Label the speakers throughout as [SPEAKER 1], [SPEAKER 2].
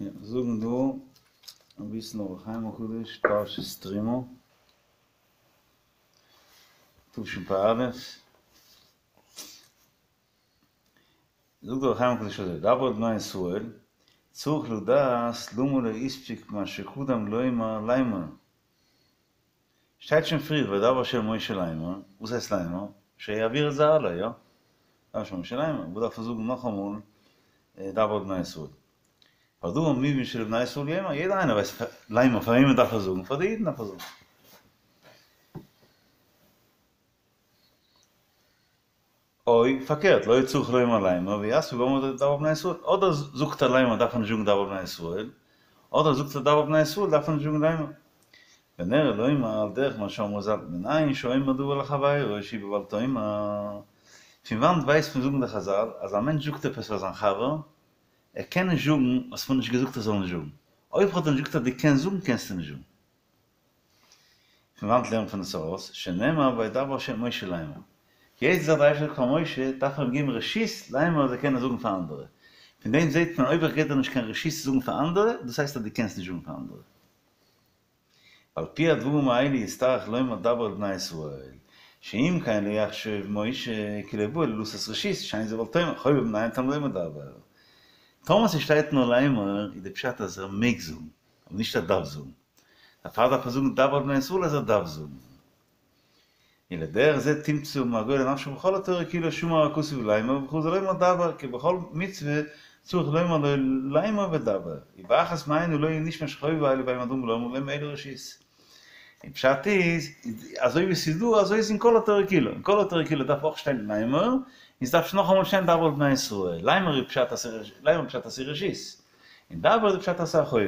[SPEAKER 1] יא, זאגן דא אביסל אור החיים הקדוש, פרשת תרומה, תשפ"א. זאגט דער אור החיים הקדוש אזוי, דבר אל בני ישראל, צריך לדעת למה לא הספיק מה שקדם לומר לאמר. שטייט שוין פריער וידבר ה' אל משה לאמר, וואס הייסט לאמר? שיעביר את זה הלאה, יא? וידבר ה' אל משה לאמר, וואס דארף ער זאגן נאכאמאל דבר אל בני ישראל? והדבר מובן שלבני ישראל יאמר, יעדער איינער ווייסט לאמר פאר וועמען דארף ער זאגן, פאר די אידן דארף ער זאגן. או, פארקערט, לא צריך לומר לאמר ויספיק באומרו דבר אל בני ישראל, אדער זאגט ער לאמר דארף ער נישט זאגן דבר אל בני ישראל, אדער זאגט ער דבר אל בני ישראל דארף ער נישט זאגן לאמר. ונראה לומר על דרך מה שאמרו ז"ל, מנין שאומר דבר לחבירו שהוא בבל תאמר. פון וואנט ווייסט מען זאגן די חז"ל אז א מענטש זאגט עפעס פאר זיין חבר, ער קען נישט זאגן וואס מ'האט נישט געזאגט ער זאל נישט זאגן. אויב כ'האב דיר נישט געזאגט אז דו קענסט זאגן קענסטו נישט זאגן. פון וואנט לערנט מען עס ארויס? שנאמר וידבר ה' אל משה לאמר. יעצט אז דער אייבערשטער זאגט פאר משה, דארף ער אים געבן רשות לאמר אז ער קען עס זאגן פאר אנדערע. פון דעם זעט מען אויב איך געב דיר נישט קיין רשות צו זאגן פאר אנדערע, דאס הייסט אז דו קענסט נישט זאגן פאר אנדערע. ועל פי הדברים האלה יצטרך לומר דבר אל בני ישראל, שאם כן לא יחשוב משה כי לא בא אלא לתת רשות, שאין זה בל תאמר, חובה מנין תלמוד לומר דבר. טאמער ס'שטייט נאר לאמר איז די פשט אז ער מעג זאגן, אבער נישט ער דארף זאגן. דערפאר דארף ער זאגן דבר אל בני ישראל אז ער דארף זאגן. און לדרך זה תמצא מהגולה נפשו בכל התורה כולה שמר הכתוב לאמר ובכל זה לומר דבר כי בכל מצוה צריך לומר לו לאמר ודבר ובאחת מהן לא יהיה נשמע שחובה אלו בהם הדברים לומר להם אלא רשות. און פשט איז, אזוי ווי ס'איז דא אזוי איז אין כל התורה כולה, אין כל התורה כולה דארף אויך שטיין לאמר, און ס'דארף נאכאמאל שטיין דבר אל בני ישראל, לאמר איז פשט אז לאמר פשט אז ס'איז רשות, און דבר איז פשט אז ס'איז א חובה.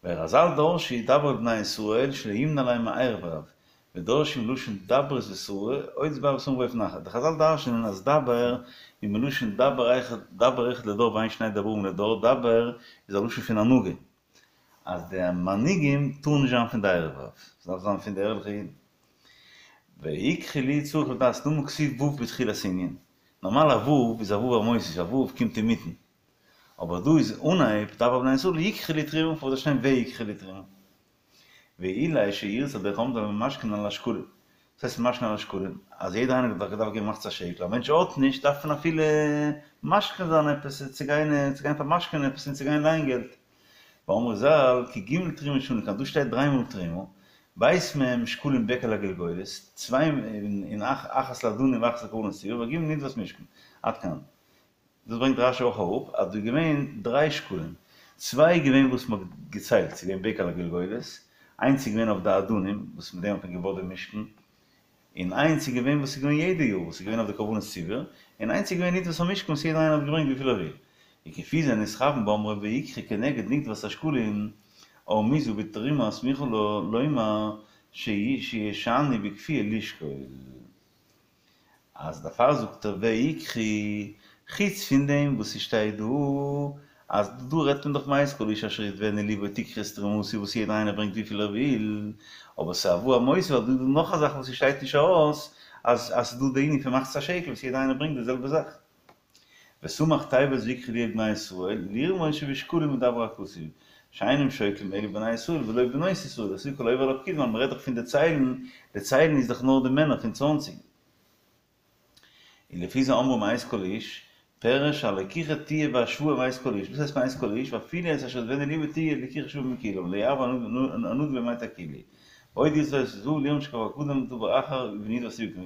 [SPEAKER 1] ורז"ל דרשו דבר אל בני ישראל שלא ימנע להם מערב רב, ודורשים לשון דברות ושררה, עוד יתבאר בספרים באופן אחר. די חז"ל דרש'נען אז דבר איז מלשון דבר אחד, דבר אחד לדור ואין שני דברים לדור, דבר איז א לשון פון הנהגה, אז די מנהיגים טארן נישט זיין פון די ערב רב, ס'דארף זיין פון די ערליכע אידן. ויקחו לי צריך לדעת למה כתיב ו' בתחילת ענין, נארמאל א ו' איז א ו' המוסיף, א ו' קומט אינמיטן, אבער דא איז אנהייב דבר אל בני ישראל יקחו לי תרומה פארוואס דארף שטיין ויקחו לי תרומה? ואולי שירצה על דרך העומדים ממשכנין על השקלים. וואס הייסט ממשכנין על השקלים? אז יעדער איינער האט דאך געדארפט געבן מחצית השקל, א מענטש האט נישט דארף מען אפילו משכן זיין עפעס צו גיין צו גיין פארמשכנ'ען עפעס און צו גיין לייען געלט. ואמרו ז"ל כי ג' תרומה שנו כאן דא שטייט דריי מאל תרומה, ב' מהם שקלים בקע לגולגולת, צוויי און אחת לאדנים ואחת לקרבנות ציבור, וג' נדבת משכן. עד כאן. דאס ברענגט רש"י אויך אראפ אז דא איז געווען דריי שקלים, צוויי איז געווען וואס מ'האט געציילט, ס'איז געווען בקע לגולגולת, איינס איז געווען אויף די אדנים וואס מיט דעם האט מען געבויט דעם משכן, און איינס איז געווען וואס איז געווען יעדע יאר וואס איז געווען אויף די קרבנות ציבור, און איינס איז געווען נדבת המשכן וואס יעדער איינער האט געברענגט וויפיל ער וויל. וכפי זה נתכוון באומרו ויקחו כנגד נדבת השקלים, והרמיזו בתרומה הסמוכה לומר שישנו בכפייה לשקול. אז דערפאר זאגט ער ויקחו, חוץ פון דעם וואס ס'שטייט דא אז דא רעדט מען דאך מאת כל איש אשר ידבנו לבו תקחו את תרומתי וואס יעדער איינער ברענגט וויפיל ער וויל, אבער ס'איז א ו' המוסיף ווייל דא איז דא נאך א זאך וואס ס'שטייט נישט ארויס אז אז ס'איז דא די ענין פון מחצית השקל וואס יעדער איינער ברענגט די זעלבע זאך. וסמך תיבות ויקחו לי אל בני ישראל, לרמוז שבשקלים מדבר הכתוב, שאינם שוקלים אלא בני ישראל ולא בנות ישראל, דאתו כל העובר על הפקודים ווייל מ'רעדט דאך פון די ציילן, די ציילן איז דאך נאר די מענער פון צוואנציג. און לפי זה אמרו מאת כל איש, פירש שהלקיחה תהיה בהשוואה מאת כל איש, וואס הייסט מאת כל איש? ואפילו את אשר ידבנו לבו תהיה לקיחה שווה מכולם, לא ירבה הנדיב ממעט הכולי. ועוד ירצה לתוספות ו' לרמוז שכבר קדם דבר אחר ובנדבת ציבור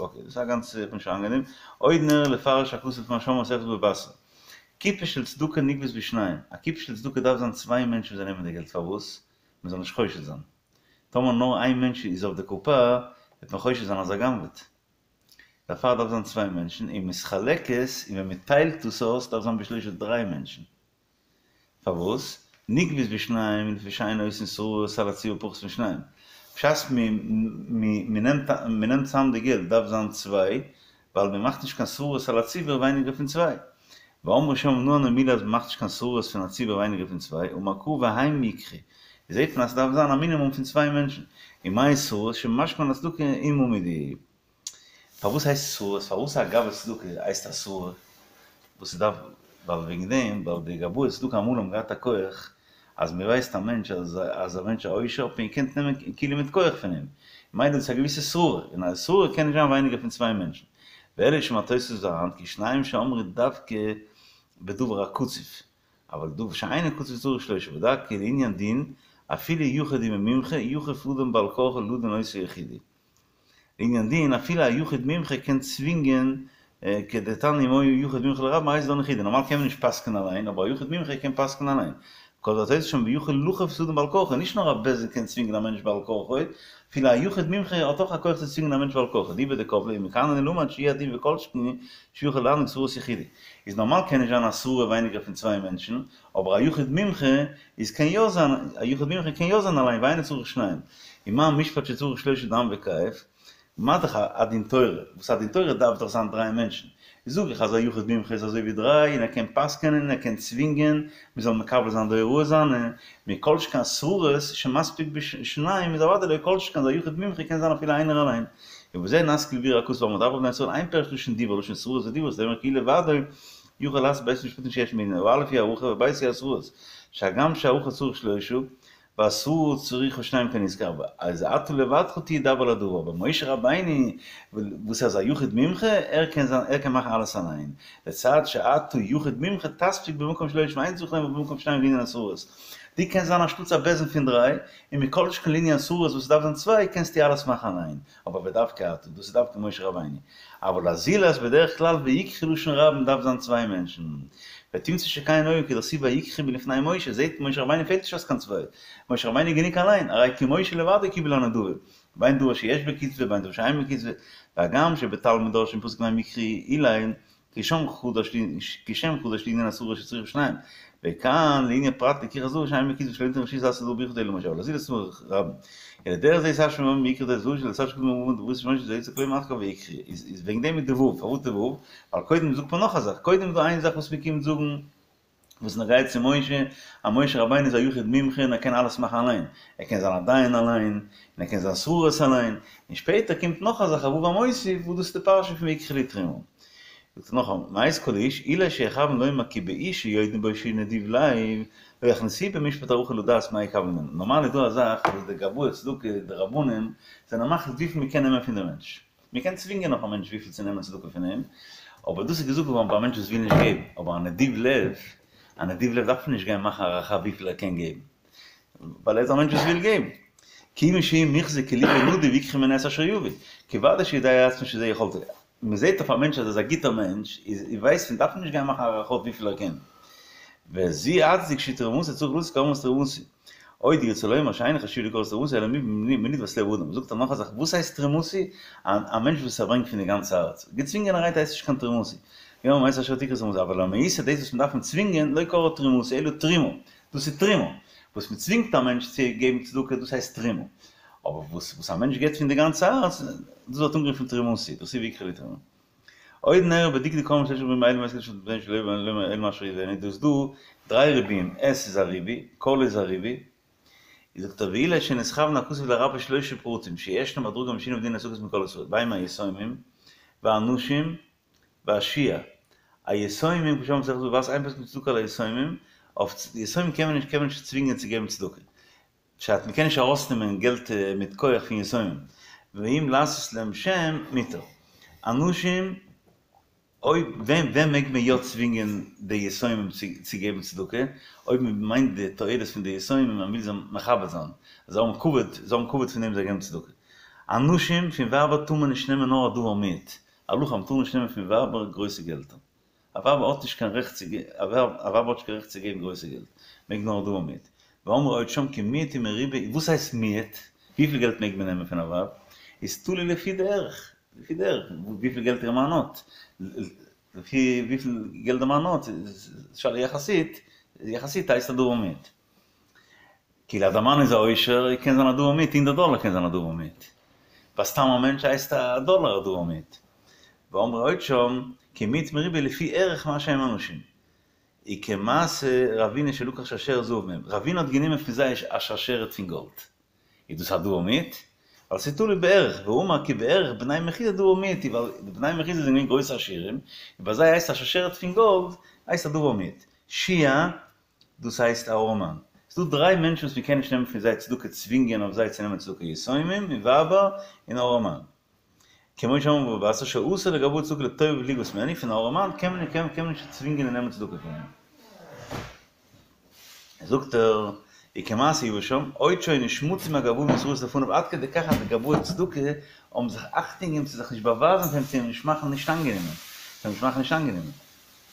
[SPEAKER 1] אקעי, דאס איז א גאנץ נישט אנגענעם. עוד נראה לפרש הכתוב לפי מה שאמרו מסכת בבא בתרא. קופה של צדקה נגבית בשניים. א קופה של צדקה דארף זיין צוויי מענטשן וואס זיי נעמען די געלט פארוואס? מען זאל נישט חושד זיין. טאמער נאר איין מענטש איז אויף די קופה וועט מען חושד זיין אז ער גנב'עט. דערפאר דארף זיין צוויי מענטשן, ומתחלקת, און ווען מען טיילט דאס אויס דארף זיין בשלושה דריי מענטשן. פארוואס? נגבית בשניים לפי שאין עושין שררות על הציבור פחות משניים. בשעת מ'נעמט צאם די געלט דארף זיין צוויי, ווייל מ'מאכט נישט קיין שררות על הציבור ווייניגער פון צוויי. ואמרו שם מנא הני מילי אז מ'מאכט נישט קיין שררות פון א ציבור ווייניגער פון צוויי, אמר קרא והם יקחו. זעט מען אז ס'דארף זיין א מינימום פון צוויי מענטשן. ומאי שררות שממשכנין על הצדקה עמה מידי. פארוואס הייסט שררות? פארוואס א גבאי צדקה הייסט א שררה? וואס ס'דארף, ווייל וועגן דעם, ווייל די גבאי צדקה אמאל האבן געהאט א כח, אז מען ווייסט א מענטש אז אז א מענטש א עושר האט מען געקענט נעמען כאילו מיט כח פון אים, ממילא איז עס א געוויסע שררה, און א שררה קען נישט זיין ווייניגער פון צוויי מענטשן. ואלא שמהתוספות והר"ן כי שניים שאמרו דווקא בדבר הקצוב, אבל דבר שאינו קצוב צריך שלושה, ודע כי לעניין דין, אפילו יחיד הוא במומחה, יכוף אדם בעל כרחו לדון אותו יחידי. לעניין דין, אפילו א יחיד מומחה קען צווינגען, כדתניא אם היה יחיד מומחה לרבים הרי זה דן יחידי, נארמאל קען מען נישט פסק'נען אליין, אבער א יחיד מומחה קען פסק'נען אליין. כל התוס' שם ויכול לכוף את האדם בעל כרחו, נישט נאר א בית דין קען צווינגען א מענטש בעל כרחו, אפילו א יחיד מומחה האט אויך א כח צו צווינגען א מענטש בעל כרחו, אליבא דקבלה ומכאן אני למד שהוא הדין וכל שכן שיכול להנהיג שררות יחידי. איז נארמאל קען נישט זיין א שררה ווייניגער פון צוויי מענטשן, אבער א יחיד מומחה איז קען יא זיין, א יחיד מומחה קען יא זיין אליין ואינו צריך שניים. ומה משפט שצריך שלושה דן וכייף, מה דאך א דין תורה, וואס א דין תורה דארף דאך זיין דריי מענטשן, זאג איך אז א יחיד מומחה איז אזוי ווי דריי און ער קען פסק'ענען און ער קען צווינגען מען זאל מקבל זיין די הוראה זיינע, מכל שכן שררות שמספיק בשניים איז אוודאי לא כל שכן אז א יחיד מומחה קען זיין אפילו איינער אליין. ובזה נשכיל לביאור הכתוב ואמר דבר בני ישראל אין פירוש לשון דיבור לשון שררות ודיבור זה אומר כאילו לבדו יוכל לעשות ב' משפטים שיש בענין, הא' היא הערכה והב' היא השררות, שהגם שהערכה צריך שלושה, והשררה צריכה שניים כנזכר, אז אתה לבדך תהיה דבר לדבר, אבער משה רבינו וואס איז א יחיד מומחה, ער קען זיין ער קען מאכן אלעס אליין, לצד שאתה יחיד מומחה תספיק במקום שלושה ואין צריך לומר במקום שניים לעניין השררות. דו קענסט זיין אנשטאטס א בית דין פון דריי, און מכל שכן לעניין שררות וואס ס'דארף זיין צוויי קענסטו אלעס מאכן אליין, אבער ודווקא אתה, דאס איז דווקא משה רבינו. אבל הזולת בדרך כלל ויקחו לשון רבים דארף זיין צוויי מענטשן. ותמצא שכן היה כדכתיב ויקחו מלפני משה, זעהט משה רבינו פעלט נישט אויס קיין צוויי, משה רבינו איז גענוג אליין, הרי כי משה לבדו קיבל הנדבה, בין דבר שיש בו קצבה בין דבר שאין בו קצבה, והגם שבתלמוד דורשין פסוק מהם יקחו אולי כי שם חדש כי שם חדש לעניין השררה שצריך שניים, וכאן לעניין פרט לקיחת דבר שאין בו קצבה שלא ניתן רשות לעשות דבר ביחיד אלא למשה, אבל הזולת צריך רבים. אלא דרך זה ישא שמעון ויקחו את הזו של הצד שקודם אמרו דברו שמעון שזה יצא כלום אחר ויקחו איז וועגן דעם איז די וו, פארוואס די וו? ווייל קודם זאגט מען נאך א זאך, קודם איז דא איין זאך וואס מ'קומט זאגן וואס נוגע צו משה, אז משה רבינו איז א יחיד מומחה און ער קען אלעס מאכן אליין, ער קען זיין א דיין אליין, און ער קען זיין שררות אליין, און שפעטער קומט נאך א זאך א וו המוסיף וואס דאס איז די פרשה פון ויקחו לי תרומה. זאגט ער נאכאמאל, מאת כל איש, אולי שיכוון לומר כי באיש שיודעים בו שהוא נדיב לב, לא יכניסוהו במשפט הערכה לדעת מה יקבל ממנו. נארמאל איז דא א זאך וואס די גבאי צדקה, די רבנים, זענען מחליט וויפיל מען קען נעמען פון די מענטש. מען קען צווינגען אויף א מענטש וויפיל צו נעמען צדקה פון אים, אבער דאס איז געזאגט געווארן ביי א מענטש וואס וויל נישט געבן, אבער א נדיב לב, א נדיב לב דארף מען נישט גיין מאכן הערכה וויפיל ער קען געבן, ווייל ער איז א מענטש וואס וויל געבן. כיוון שהוא מוחזק כי לבו נדיב ויקחו ממנו את אשר יביא, כי ודאי שיודע עצמו שזה יכולתו. מען זעט אויף א מענטש אז ער איז א גוטער מענטש, איז ווייסט מען דארף נישט גיין מאכן הערכות וויפיל ער קען. וזו הצדק שתרומתו צריך לתת כארמת תרומתי. עוד ירצה לומר שאין חשוב לי כארמת תרומתי אלא מנדבת לב האדם. זאגט ער נאך א זאך, וואס הייסט תרומתי? א מענטש וואס ער ברענגט פון די גאנצע הארץ. געצווינגענערהייט הייסט נישט קיין תרומתי. יא מאת אשר תקחו תרומתי, אבל למעשה דאס וואס מען דארף אים צווינגען, לא קרא תרומתי אלא תרומה. דאס איז תרומה. וואס מען צווינגט א מענטש צו געבן צדקה דאס הייסט תרומה. אבער וואס וואס א מענטש געבט פון די גאנצע הארץ, דאס ווערט אנגערופן תרומתי, דאס איז ויקחו לי תרומה. עוד נראה בדקדוק האמור שלשה ריבויים אלו מאת כל שבן שלא יבא אלא מה שידענו, דא איז דא דריי ריבויים, את איז א ריבוי, כל איז א ריבוי, איז זאגט ער ואולי שנתכוון הכתוב לרבות שלשה פרטים שישנה מדרגה משונה בדיני צדקות מכל ישראל, והם היתומים, והנשים, והשיעה, היתומים כמו שאמרנו במסכת בבא בתרא אין פוסקין צדקה על היתומים, אויף יתומים קען מען נישט קען מען נישט צווינגען צו געבן צדקה, פשט, מ'קען נישט ארויסנעמען געלט מיט כח פון יתומים, ואם לעשות להם שם מותר. אנשים, אויב ווען ווען מעג מען יא צווינגען די יתומים צו געבן צדקה, אויב מען מיינט די תועלת פון די יתומים מען וויל זיי מכבד זיין, זיי האבן כבוד, זיי האבן כבוד פון דעם זיי געבן צדקה. אנשים, פון ווייבער טאר מען נישט נעמען נאר א דבר מועט, הלכה מ'טאר נישט נעמען פון ווייבער גרויסע געלטער. א ווייב האט נישט קיין רעכט צו א ווייב האט נישט קיין רעכט צו געבן גרויסע געלט, מעג נאר דבר מועט. ואמרו עוד שם כי מיעוט ומרובה, וואס הייסט מיעוט? וויפיל געלט מעג מען נעמען פון א ווייב? איז תלוי לפי די ערך, לפי די ערך, וויפיל געלט איר מאן האט, לפי וויפיל געלט די מאן האט, איז שאלה יחסית, יחסית הייסט א דבר מועט. כאילו אז די מאן איז א עושר קען זיין א דבר מועט הונדערט דאלער קען זיין א דבר מועט. ביי סתם א מענטש הייסט א דאלער א דבר מועט. ואמרו עוד שם כי מיעוט ומרובה לפי ערך מה שהם אנשים. וכמעשה רבינא שלקח שרשרת זהב מהם. רבינא האט גענומען פון זיי א שרשרת פון גאלד. איז דאס א דבר מועט? ווייל ס'איז תלוי בערך, ואמר כי בערך בני מחוזא דבר מועט הוא, ווייל די בני מחוזא זענען געווען גרויסע עשירים, און ביי זיי הייסט א שרשרת פון גאלד הייסט א דבר מועט. שוע, דאס הייסט א ארעמאן. ס'איז דא דריי מענטשן וואס מ'קען נישט נעמען פון זיי צדקה צווינגען אויף זיי צו נעמען צדקה יתומים און ווייבער און ארעמאן. כמו שאמרו בבא בתרא שאסור לגבאי צדקה לטובב לגבות ממנו, פון א ארעמאן קען מען קען מען נישט צווינגען און נעמען צדקה פון אים. זאגט ער, וכמעשה יבשם, עוד שהיו נשמטים הגבאים להתראות לפניו עד כדי כך אז די גבאי צדקה האבן זיך אכטונג געגעבן צו זיך נישט באווייזן פאר אים צו אים נישט מאכן נישט אנגענומען, צו אים נישט מאכן נישט אנגענומען.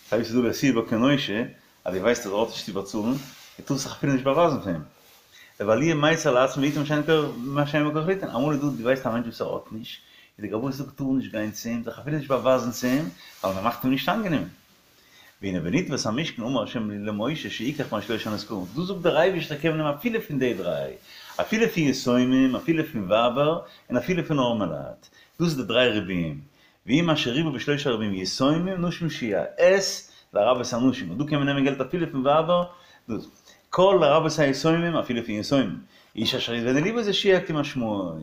[SPEAKER 1] ס'הייסט ס'איז דא להשיאו בו כנושה, אז דו ווייסט אז ער האט נישט צו באצאלן, דו טארסט זיך אפילו נישט באווייזן פאר אים. ואל יהיה מיצר לעצמו ויתן מה שאין בו כח ליתן, אמאל איז דא דו ווייסט א מענטש וואס ער האט נישט, איז די גבאי צדקה טאר נישט גיין צו אים, זיך אפילו נישט באווייזן צו אים, ווייל מען מאכט אים נישט אנגענומען. והנה בנדבת המשכן אמר ה' למשה שיקח משלושה הנזכרים, דא זאגט דער אייבערשטער קען מען נעמען אפילו פון די דריי, אפילו פון יתומים, אפילו פון ווייבער, און אפילו פון ארעמעלייט, דאס איז די דריי ריבויים, והוא מה שריבה בשלושה ריבויים יתומים נשים שהי' את לרבות הנשים, און דא קען מען נעמען געלט אפילו פון ווייבער, דאס כל לרבות היתומים אפילו פון יתומים, איש אשר ידבנו ליבו זה שהי' כמשמעו.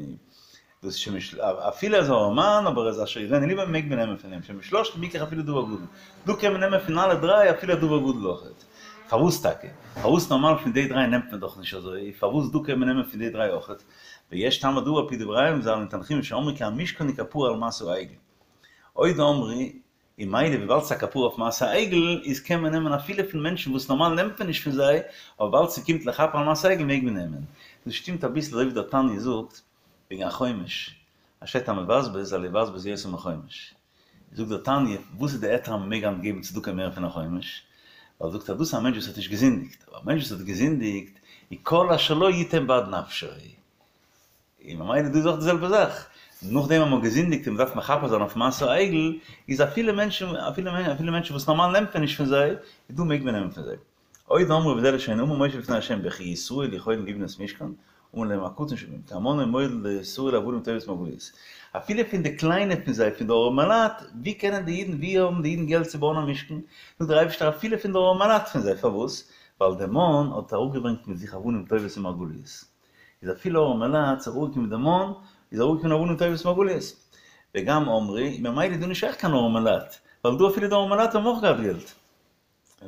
[SPEAKER 1] דאס שמש אפילו אז ארעמאן אבער איז אשר ידבנו ליבו מעג מען נעמען פון אים שמשלושתן יקח אפילו דבר גדול דא קען מען נעמען פון אלע דריי אפילו א דבר גדול אויכעט פארוואס טאקע? פארוואס נארמאל פון די דריי נעמט מען דאך נישט אזוי פארוואס דא קען מען נעמען פון די דריי אויכעט? ויש טעם מדוע על פי דבריהם ז"ל אין תנחומא שאמרו כי המשכן הוא כפרה על מעשה העגל עוד אמרו און מילא וויבאלד ס'איז א כפרה אויף מעשה העגל איז קען מען נעמען אפילו פון מענטשן וואס נארמאל נעמט מען נישט פון זיי אבער וויבאלד ס'קומט לכפר על מעשה העגל מעג מען נעמען דאס שטימט אביסל אזוי ווי דער תניא זאגט וועגן א חומש, אז שטייט המבזבז אל יבזבז יותר מחומש. זאגט דער תניא, וואס איז די היתר אז מ'מעג היינט געבן צדקה מער פון א חומש? ווייל זאגט ער, דאס איז א מענטש וואס האט נישט געזינדיגט, אבער א מענטש וואס האט געזינדיגט, איז כל אשר לו יתן בעד נפשו. און ממילא דא איז אויך די זעלבע זאך, נאכדעם אז מ'האט געזינדיגט און מ'דארף מכפר זיין אויף מעשה העגל, איז אפילו מענטשן, אפילו מענטשן וואס נארמאל נעמט מען נישט פון זיי, איז דא מעג מען נעמען פון זיי. עוד אמרו וזה לשונו אמר משה לפני ה' וכי ישראל יכולים לבנות משכן, אמר להם הקטן שבהם, כי המן הוא מוליד לישראל אבנים טובות ומרגליות. אפילו פון די קליינע פון זיי, פון די ארעמעלייט, ווי קענען די אידן, ווי האבן די אידן געלט צו בויען א משכן? זאגט דער אייבערשטער אפילו פון די ארעמעלייט פון זיי, פארוואס? ווייל דער מן האט אראפגעברענגט מיט זיך אבנים טובות ומרגליות. איז אפילו ארעמעלייט ס'איז אראפגעקומען די מן, איז אראפגעקומען אבנים טובות ומרגליות. וגם אמרו, ממילא איז דא נישט שייך קיין ארעמעלייט, ווייל דא אפילו די ארעמעלייט האבן אויך געהאט געלט.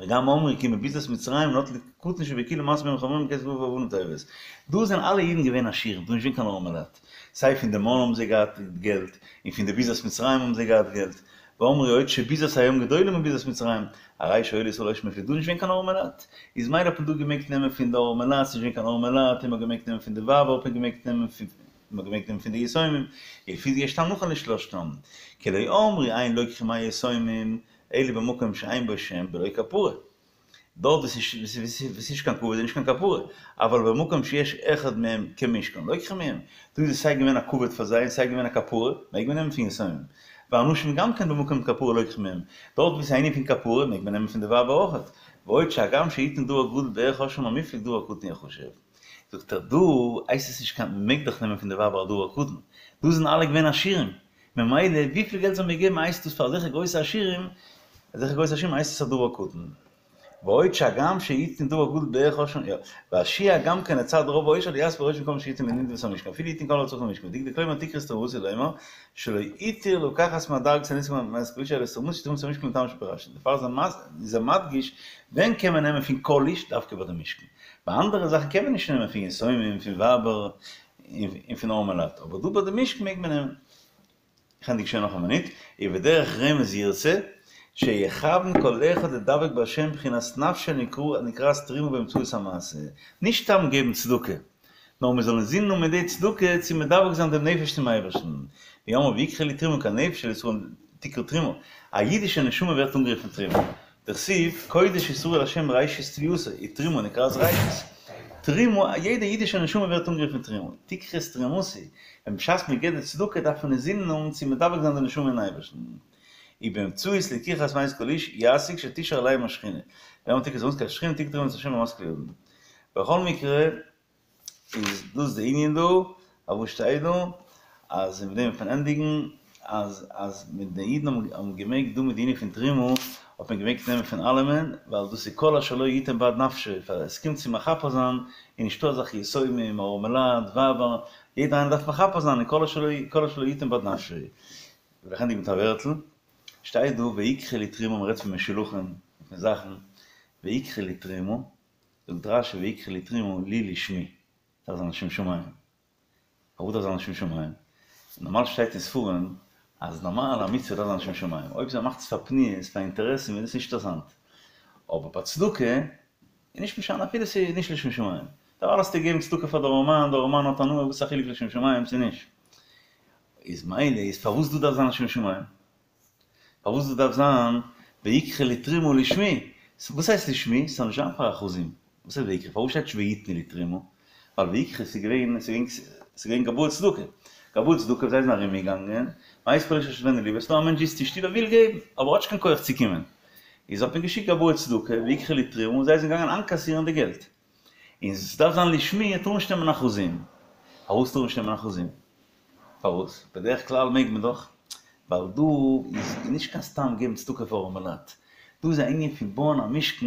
[SPEAKER 1] וגם אמרו כי מביזת מצרים נטלו קטן שבכולם משאו בהם חמורים כסף ואבנים טובות. דא זענען אלע אידן געווען עשירים, דא איז נישט געווען קיין ארעמעלייט. סיי פון די מן האבן זיי געהאט געלט, און פון די ביזת מצרים האבן זיי געהאט געלט. ואמרו עוד שביזת הים גדולה מביזת מצרים, הרי שהיו לישראל עושר מופלג, דא איז נישט געווען קיין ארעמעלייט. איז מילא האט מען דא געמעגט נעמען פון די ארעמעלייט, ס'איז נישט געווען קיין ארעמעלייט, און מ'האט געמעגט נעמען פון די ווייבער האט מען געמעגט נעמען פון. מ'האט געמעגט נעמען פון די יתומים, ולפי זה יש טעם נכון לשלושתם, כי לא אמרו אין לוקחים מהיתומים, אלא במקום שאין בו שם בלא כפרה. דארט וואו ס'איז נישט קיין כבוד איז נישט קיין כפרה, אבל במקום שיש אחד מהם כמשכן לוקחים מהם, דא איז עס סיי געווען א כבוד פאר זיי און סיי געווען א כפרה, מעג מען נעמען פון יתומים. והנשים גם כן במקום כפרה לוקחים מהם, דארט וואו ס'איז א ענין פון כפרה מעג מען נעמען פון די ווייבער אויכעט. ועוד שהגם שיתן דבר גדול בערך עושרם המופלג דבר קטן יחשב. זאגט ער דא הייסט עס נישט קיין מ'מעג דאך נעמען פון די ווייבער א דבר קטן, דא זענען אלע געווען עשירים, ממילא וויפיל געלט זאל מען געבן הייסט דאס פאר אזעלכע גרויסע עשירים, אזעלכע גרויסע עשירים הייסט עס א דבר קטן. ועוד שהגם שיתן דבר גדול בערך עושרם יא, והשיע גם כן לצד רוב העושר לא ישביע ראש במקום שיתן לנדבת המשכן אפילו יתן כל הצורך למשכן ודקדק לומר תקחו את תרומתי לומר שלא התיר לקחת מהדרגות הנזכר מאת כל איש אלא את תרומתי תרומת המשכן לטעם שפירשנו דערפאר איז ער מדגיש ווען קען מען נעמען פון כל איש דווקא ביי די משכן ביי אנדערע זאכן קען מען נישט נעמען פון יתומים פון ווייבער און פון ארעמעלייט, אבער דא ביי די משכן מעג מען נעמען. איך ענדיג שוין נאך א מינוט, ובדרך רמז ירצה, שיכוון כל אחד לדבק בהשם בחינת נפשו נקראת תרומה באמצעות המעשה, נישט סתם געבן צדקה, נאר מען זאל אינזינען האבן מיט די צדקה צו מדבק זיין דעם נפש צום אייבערשטן, והוא אמר ויקחו לי תרומה כי הנפש של ישראל תקרא תרומה, א אידישע נשמה ווערט אנגערופן תרומה, דכתיב, קודש ישראל לה' ראשית תבואתו, ותרומה נקראת ראשית. תרומה, א יעדע אידישע נשמה ווערט אנגערופן תרומה. תקחו את תרומתי, ווען בשעת מען געבט די צדקה דארף מען אינזינען האבן צו מדבק זיין די נשמה אין אייבערשטן. ובאמצעות לקיחת מאת כל איש ישיג שתשרה עליהם השכינה. ואמר תקחו את תרומתי כי השכינה תקרא תרומה מאת ה' במשכיל אדם. בכל מקרה. איז דאס די ענין דא, אבער שטייט דא אז מיט דעם וועט מען ענדיגן, אז אז מיט די אידן האבן געמעגט דא מיט די ענין פון תרומה האט מען געמעגט נעמען פון אלעמען, ווייל דאס איז כל אשר לו יתן בעד נפשו, פאר עס קומט צו מכפר זיין איז נישטא אזעלכע יתומים, ארעמעלייט, ווייבער, יעדער איינער דארף מכפר זיין און כל אשר לא כל אשר לא יתן בעד נפשו. וויל איך ענדיגן מיט א ווערטל, שטייט דא ויקחו לי תרומה מ'רעדט פון משולחים, פון זאכן, ויקחו לי תרומה, זאגט רשי ויקחו לי תרומה לי לשמי, דארף זיין לשם שמים. פארוואס דארף זיין לשם שמים? נארמאל שטייט אין ספרים אז נארמאל א מצוה דארף זיין לשם שמים, אויב זיי מאכט עס פאר פניות, פאר אינטערעסן איז עס נישט אינטערעסאנט. אבער ביי צדקה איז נישט משנה אפילו ס'איז נישט לשם שמים. דערווייל האסטו געגעבן צדקה פאר די ארעמאן, די ארעמאן האט הנאה, וואס איז א חילוק לשם שמים צו נישט? איז מילא איז פארוואס דא דארף זיין לשם שמים? פארוואס דא דארף זיין ויקחו לי תרומה לשמי? וואס הייסט לשמי? ס'זאל נישט זיין פאר אחוזים. וואס הייסט ויקחו? פארוואס שטייט נישט ויתנו לי תרומה? ווייל ויקחו ס'איז געווען ס'איז געווען גבאי צדקה. גבאי צדקה זיי זענען ארום געגאנגען, מאת כל איש אשר ידבנו לבו, ס'דא א מענטש זיצט אין שטוב ער וויל געבן, אבער האט נישט קיין כח צו קומען. איז האט מען געשיקט גבאי צדקה, ויקחו לי תרומה, און זיי זענען געגאנגען איינקאסירן די געלט. און ס'דארף זיין לשמי טאר נישט נעמען אחוזים. פארוואס טאר נישט נעמען אחוזים? פארוואס? בדרך כלל מעג מען דאך, ווייל דא איז נישט קיין סתם געבן צדקה פאר ארעמעלייט, דא איז א ענין פון בויען א משכן,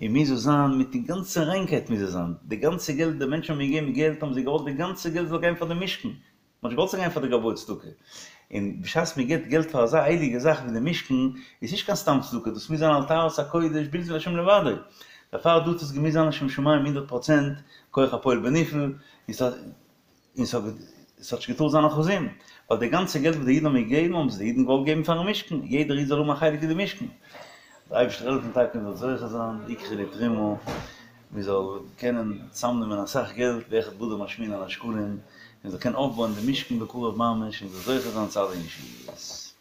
[SPEAKER 1] און מוז עס זיין מיט די גאנצע ריינקייט מוז עס זיין, די גאנצע געלט די מענטשן האבן געגעבן געלט האבן זיי געוואלט די גאנצע געלט זאל גיין פאר די משכן, מען האט נישט געוואלט ס'זאל גיין פאר די גבאי צדקה, און בשעת מען געבט געלט פאר אזא הייליגע זאך ווי די משכן, איז נישט קיין סתם צדקה, דאס מוז זיין על טהרת הקודש בלתי להשם לבדו, דערפאר דא האט עס געמוזט זיין לשם שמים הונדערט פראצענט, כח הפועל בנפעל, און ס'האט נישט געטארט זיין אחוזים, ווייל די גאנצע געלט וואס די אידן האבן געגעבן האבן עס די אידן געוואלט געבן פארן משכן, יעדער איד זאל האבן א חלק אין די משכן. דער אייבערשטער זאל העלפן טאקע מען זאל זוכה זיין ויקחו לי תרומה, מען זאל קענען צאמנעמען אסאך געלט, ואחד באדר משמיעין על השקלים, מען זאל קענען אויפבויען די משכן בקרוב ממש, און מען זאל זוכה זיין צו אלע ישועות.